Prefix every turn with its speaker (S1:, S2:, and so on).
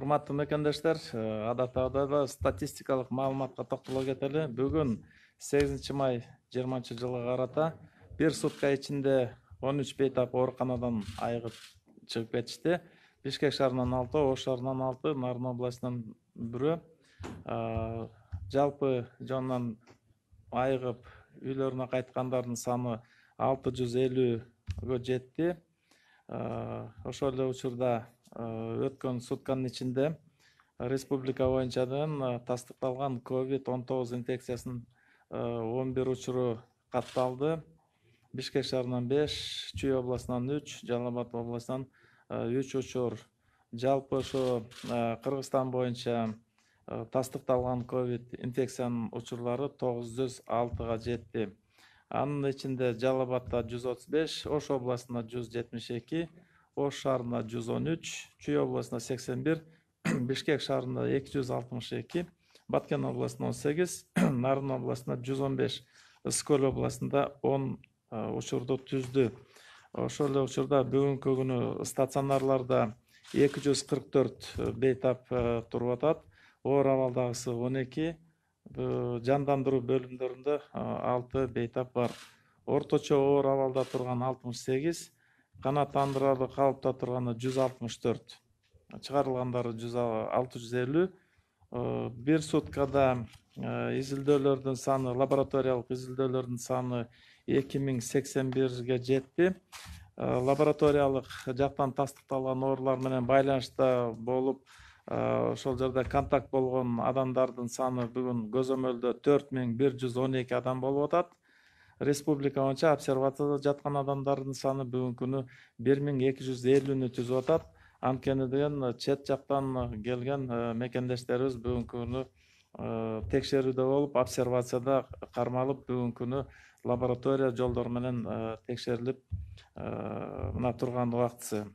S1: Урматтуу мекендештер, адаттагыйдай статистикалык маалыматка токтоло кетели. Бүгүн 8 май 20 жылга карата бир сутка ичинде 13 бейтап ооруканадан айыгып чыгып кетишти. Бишкек шаарынан 6, Ош шаарынан 6, Нарын областынан 1. Жалпы жонунан айыгып үйлөрүнө кайткандардын саны 650-гө жетти. Ошол эле учурда өткөн сутканын ичинде республика боюнчадан тастыкталган COVID-19 инфекциясынын 11 учуру катталды. Бишкек шаарынан 5, Чүй областынан 3, Жалал Абад областынан 3 учур. Жалпы ошо Кыргызстан боюнча тастыкталган COVID инфекциянын учурлары 906-га жетти. Анын ичинде Жалал Абадда 135, Ош областында 172, Ош шаарында 113, Чүй областында 81, Бишкек шаарында 262, Баткен областында 18, Нарын областында 115, Ысык-Көл областында 10 учурду түздү. Ошол эле учурда бүгүнкү күнү стационарларда 244 бейтап туруп атат. Оор абалдагысы 12, жандандыруу бөлүмдөрүндө 6 бейтап бар. Орточо оор абалда турган 68, канааттандырарлык калыпта турганы 164, чыгарылгандары 650. Бир суткада изилдөөлөрдүн саны, лабораториялык изилдөөлөрдүн саны 2081-ге жетти. Лабораториялык жактан тастыкталган оорулар менен байланышта болуп, ошол жерде контакт болгон адамдардын саны бүгүн көзөмөлдө 4112 адам болуп атат. Республика боюнча обсервацияда жаткан адамдардын саны бүгүнкү күнү 1250-нү түзүп атат. Анткени деген чет жактан келген мекендештерибиз бүгүнкү күнү текшерүүдө болуп, обсервацияда кармалып, бүгүнкү күнү лаборатория жолдору менен текшерилип мына турган убактысы.